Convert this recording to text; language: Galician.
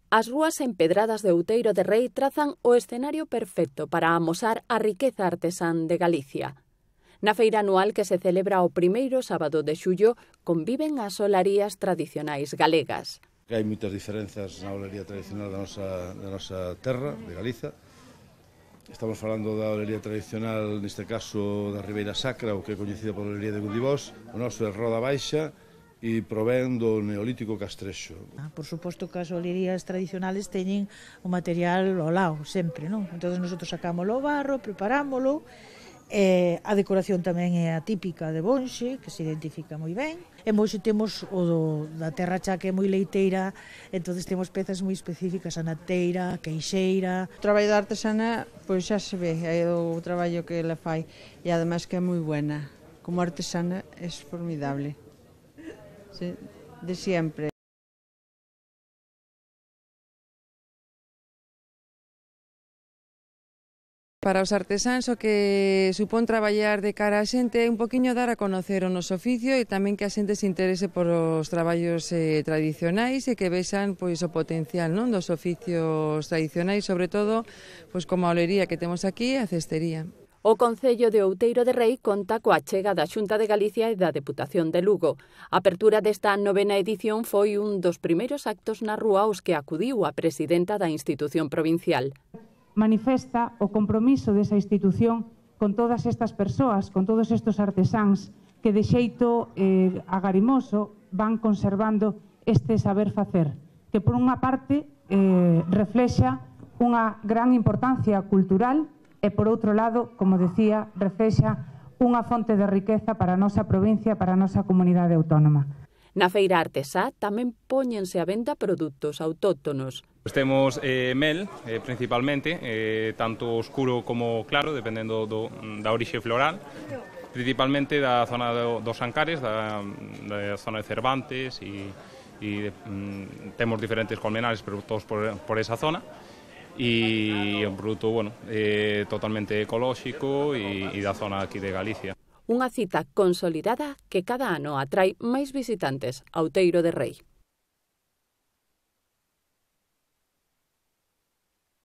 As rúas empedradas de Outeiro de Rei trazan o escenario perfecto para amosar a riqueza artesán de Galicia. Na feira anual que se celebra o primeiro sábado de xullo conviven as olarías tradicionais galegas. Hai moitas diferenzas na olería tradicional da nosa terra, de Galiza. Estamos falando da olería tradicional, neste caso da Ribeira Sacra, o que é coñecida pola olería de Gundibós. O noso é Roda Baixa e provén do Neolítico Castrexo. Por suposto que as olerías tradicionales teñen o material ao lado, sempre, non? Entón, nosotros sacámoslo o barro, preparámoslo. A decoración tamén é atípica de Bonxe, que se identifica moi ben. En Bonxe temos o da terra xa que é moi leiteira, entón temos pezas moi específicas, a nateira, a queixeira. O traballo da artesana, pois xa se ve, é o traballo que ela fai, e ademais que é moi buena. Como artesana é formidable, sí, de sempre. Para os artesáns o que supón traballar de cara a xente é un poquinho dar a conocer o noso oficio e tamén que a xente se interese por os traballos tradicionais e que vexan pois o potencial, non, dos oficios tradicionais, sobre todo pois como a olería que temos aquí e a cestería. O Concello de Outeiro de Rei conta coa achega da Xunta de Galicia e da Deputación de Lugo. A apertura desta 9ª edición foi un dos primeiros actos na rúa aos que acudiu a presidenta da institución provincial. Manifesta o compromiso desa institución con todas estas persoas, con todos estes artesáns que de xeito agarimoso van conservando este saber facer, que por unha parte reflexa unha gran importancia cultural e por outro lado, como decía, reflexa unha fonte de riqueza para a nosa provincia, para a nosa comunidade autónoma. Na feira artesá tamén póñense a venda produtos autóctonos. Temos mel, principalmente, tanto oscuro como claro, dependendo da orixe floral, principalmente da zona dos Ancares, da zona de Cervantes, e temos diferentes colmenares, pero todos por esa zona, e é un produto totalmente ecolóxico e da zona aquí de Galicia. Unha cita consolidada que cada ano atrai máis visitantes a Outeiro de Rei.